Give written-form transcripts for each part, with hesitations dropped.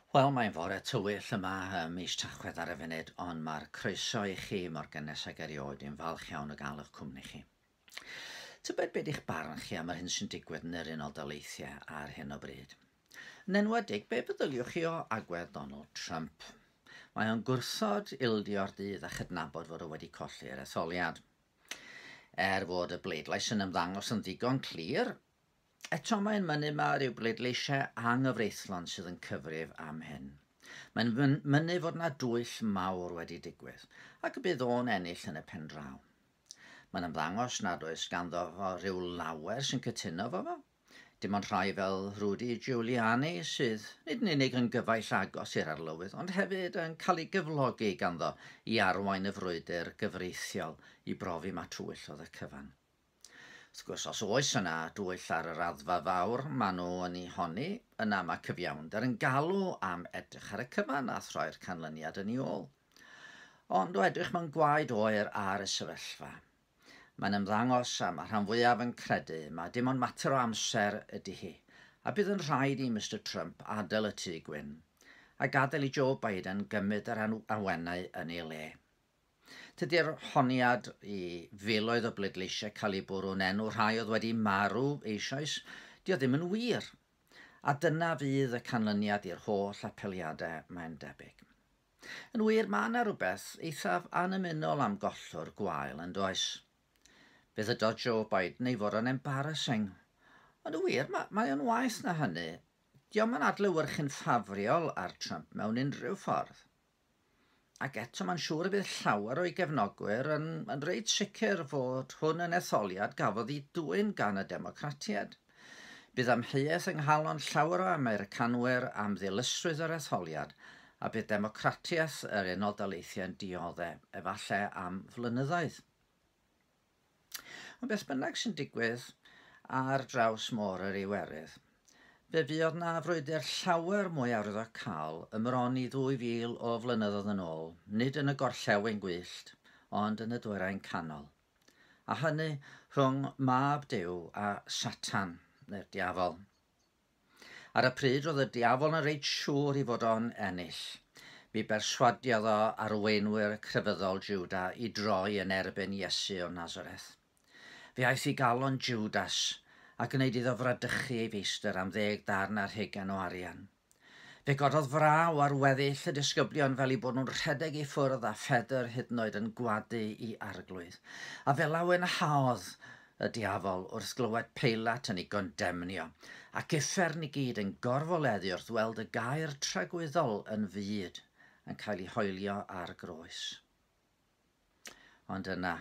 Wel, mae'n fore tywyll yma ym mis Tachwedd ar y funud, ond mae'r croeso i chi mor gynnes ag erioed. Dwi'n falch iawn o gael eich cwmni chi. Tybed beth eich barn chi am yr hyn sy'n digwydd yn yr Unol Daleithiau ar hyn o bryd? Yn enwedig, be feddyliwch chi o agwedd Donald Trump? Mae o'n gwrthod ildio'r dydd a chydnabod fod o wedi colli'r etholiad. Er fod y bleidlais yn ymddangos yn ddigon clir, eto mae'n mynnu ma ryw bleidleisiau anghyfreithlon sydd yn cyfrif am hyn. Mae'n mynnu fod yna dwyll mawr wedi digwydd, ac y bydd o'n ennill yn y pen draw. Mae'n ymddangos nad oes ganddo fo rhyw lawer sy'n cytuno fo fo. Dim ond rhai fel Rudy Giuliani sydd nid yn unig yn gyfaill agos i'r arlywydd, ond hefyd yn cael ei gyflogi ganddo i arwain y frwydr gyfreithiol i brofi ma twyll oedd y cyfan. Wrth gwrs, os oes yna dwyll ar y raddfa fawr maen nhw yn ei honni, yna mae cyfiawnder yn galw am edrych ar y cyfan a throi'r canlyniad yn ei ôl. Ond o edrych mewn gwaed oer ar y sefyllfa, mae'n ymddangos a mae rhan fwyaf yn credu mae dim ond mater o amser ydy hi, a bydd yn rhaid i Mr Trump adael y Tŷ Gwyn a gadael i Joe Biden gymryd yr awenau yn ei le. Tydi'r honiad i filoedd o bleidleisiau cael eu bwrw'n enw rhai oedd wedi marw eisoes, dio ddim yn wir. A dyna fydd y canlyniad i'r holl apeliadau, mae'n debyg. Yn wir, mae yna rhywbeth eithaf annymunol am gollwr gwael yn does. Fe ddydodd Joe Biden ei fod o'n embarrassing. Ond yn wir, mae o'n waeth na hynny. Dio'm yn adlewyrchu'n ffafriol ar Trump mewn unrhyw ffordd. Ac eto mae'n siŵr y bydd llawer o'i gefnogwyr yn reit sicr fod hwn yn etholiad gafodd ei dwyn gan y Democratiaid. Bydd amheuaeth yng nghalon llawer o Americanwyr am ddilysrwydd yr etholiad, a bydd democratiaeth yr Unol Daleithiau'n dioddef, efallai am flynyddoedd. Ond beth bynnag sy'n digwydd ar draws môr yr Iwerydd, fe fuodd na frwydr llawer mwy arwyddocaol ymron i 2000 o flynyddoedd yn ôl, nid yn y gorllewin gwyllt, ond yn y dwyrain canol. A hynny rhwng mab Duw a Satan, neu'r diafol. Ar y pryd roedd y diafol yn reit siŵr i fod o'n ennill. Mi berswadiodd o arweinwyr crefyddol Juda i droi yn erbyn Iesu o Nazareth. Fe aeth i galon Judas a gwneud iddo fradychu ei feistr am 10 darn ar hugain o arian. Fe gododd fraw ar weddill y disgyblion fel eu bod nhw'n rhedeg i ffwrdd a Phedr hyd yn oed yn gwadu i arglwydd. A fe lawenhaodd y diafol wrth glywed Peilat yn ei gondemnio, ac uffern i gyd yn gorfoleddu wrth weld y gair tragwyddol yn fyd yn cael ei hoelio ar groes. Ond yna,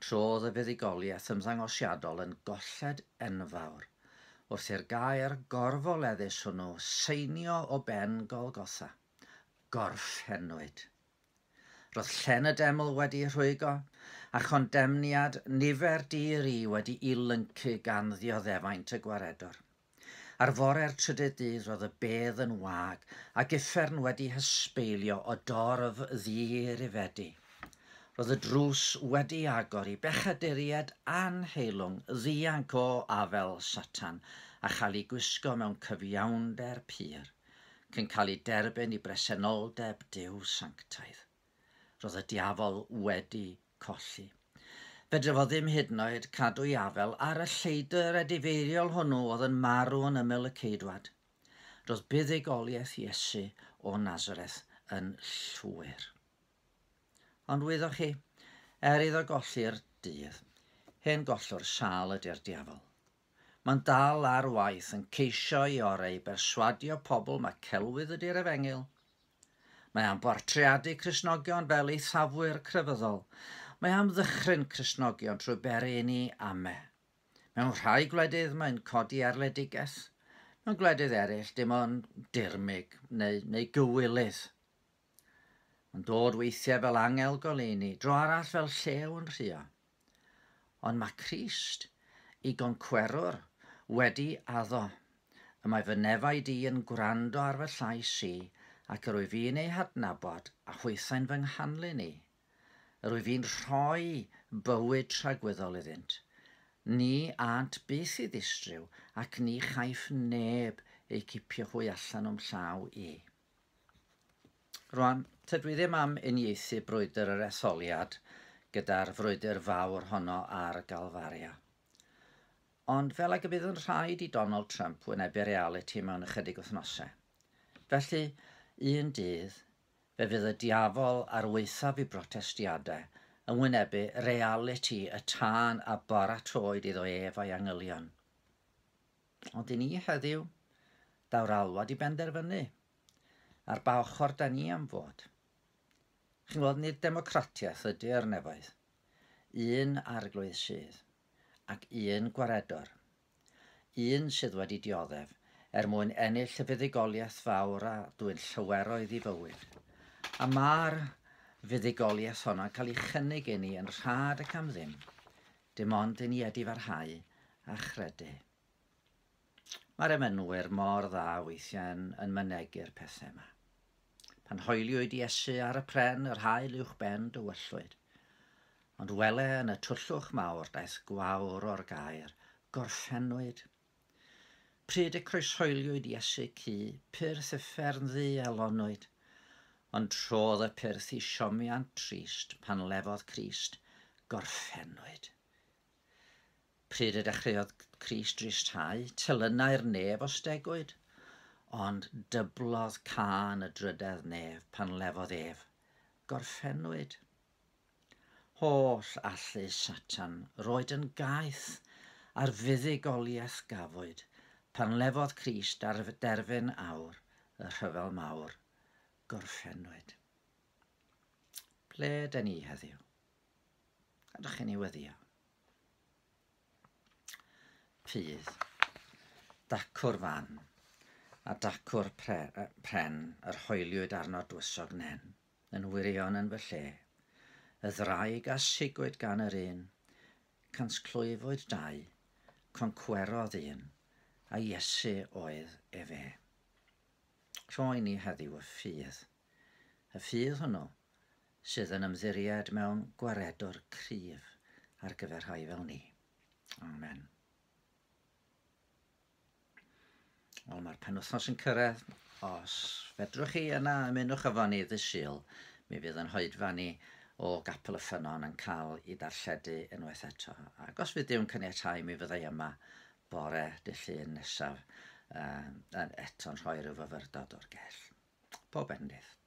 trodd y fuddugoliaeth ymddangosiadol yn golled enfawr, wrth i'r gair gorfoleddus hwnnw seinio o ben Golgotha. Gorffennwyd. Roedd llen y deml wedi rhwygo, a chondemniad nifer di-ri wedi i lyncu gan ddioddefaint y gwaredwr. Ar fore'r trydydd dydd roedd y bedd yn wag, ac uffern wedi hysbeilio o dorf ddi-rifedi. Roedd y drws wedi agor i bechaduriaid anheilwng ddianc o afel Satan a chael ei gwisgo mewn cyfiawnder pur, cyn cael ei derbyn i bresenoldeb Duw sanctaidd. Roedd y diafol wedi colli. Fedre fo ddim hyd yn oed cadw ei afel ar y lleidr edifeiriol hwnnw oedd yn marw yn ymyl y ceidwad. Roedd buddugoliaeth Iesu o Nazareth yn llwyr. Ond wyddoch chi, er iddo golli'r dydd, hen gollwr sâl ydy'r diafol. Mae'n dal ar waith yn ceisio ei orau i berswadio pobl mae celwydd ydy'r efengyl. Mae am bortreadu Cristnogion fel eithafwyr crefyddol. Mae am ddychryn Cristnogion trwy beri i ni ame. Mewn rhai gwledydd mae'n codi erledigaeth. Mewn gwledydd eraill dim ond dirmyg neu gywilydd. Mae'n dod weithiau fel angel goleuni, dro arall fel llew yn rhuo. Ond mae Crist, i goncwerwr, wedi addo. Y mae fy nefaid i yn gwrando ar fy llais i, ac yr wyf fi'n ei hadnabod a hwythau'n fy nghanlyn i. Yr wyf fi'n rhoi bywyd tragwyddol iddynt. Ni ânt byth i ddistryw, ac ni chaiff neb eu cipio hwy allan o'm llaw i. Rwan, tydw i ddim am uniaethu brwydr yr etholiad gyda'r frwydr fawr honno ar Galfaria. Ond fel ag y bydd yn rhaid i Donald Trump wynebu realiti mewn ychydig wythnosau. Felly, un dydd, fe fydd y diafol ar waethaf i brotestiadau yn wynebu realiti y tân a baratoed iddo ef a'i angylion. Ond i ni heddiw, daw'r alwad i benderfynu ar ba ochr da ni am fod. Chi'n gweld, nid democratiaeth ydy'r nefoedd. Un arglwydd sydd, ac un gwaredwr. Un sydd wedi dioddef, er mwyn ennill y fuddugoliaeth fawr a dwyn llyweroedd i fywyd. A mae'r fuddugoliaeth honno'n cael ei chynnig i ni yn rhad ac am ddim, dim ond i ni edifarhau a chredu. Mae'r emynwyr mor dda weithiau yn mynegu'r pethau yma. Pan hoeliwyd Iesu ar y pren, yr haul uwchben dywyllwyd. Ond wele yn y twllwch mawr daeth gwawr o'r gair, gorffennwyd. Pryd y croeshoeliwyd Iesu cu, pyrth uffern ddu elonwyd. Ond trodd y pyrth i siomiant trist pan lefodd Crist, gorffennwyd. Pryd y dechreuodd Crist dristhau, telynau'r nef ostegwyd, ond dyblodd cân y drydedd nef pan lefodd ef, gorffennwyd. Holl allu Satan roed yn gaeth a'r fuddugoliaeth gafwyd pan lefodd Crist ar derfyn awr y rhyfel mawr, gorffennwyd. Ble dyn ni heddiw? Gadwch i ni weddio. Ffydd, dacw'r fan, a dacw'r pren yr hoeliwyd arno dwysog nen, yn wirion yn fy lle. Y ddraig a sigwyd gan yr un, cansclwyfwyd dau, concwerodd un, a Iesu oedd efe. Rhoi ni heddiw y ffydd. Y ffydd hwnnw sydd yn ymddiried mewn gwaredwr cryf ar gyfer rhai fel ni. Amen. Wel, mae'r penwythnos yn cyrraedd. Os fedrwch chi yna ymunwch efo ni ddydd Sul, mi fydd yn hoedfa ni o Gapel y Ffynnon yn cael ei darlledu unwaith eto. Ac os fydd Duw'n caniatáu, mi fyddai yma bore dydd Llun nesaf yn eto'n rhoi rhyw fyfyrdod o'r gell. Pob bendith.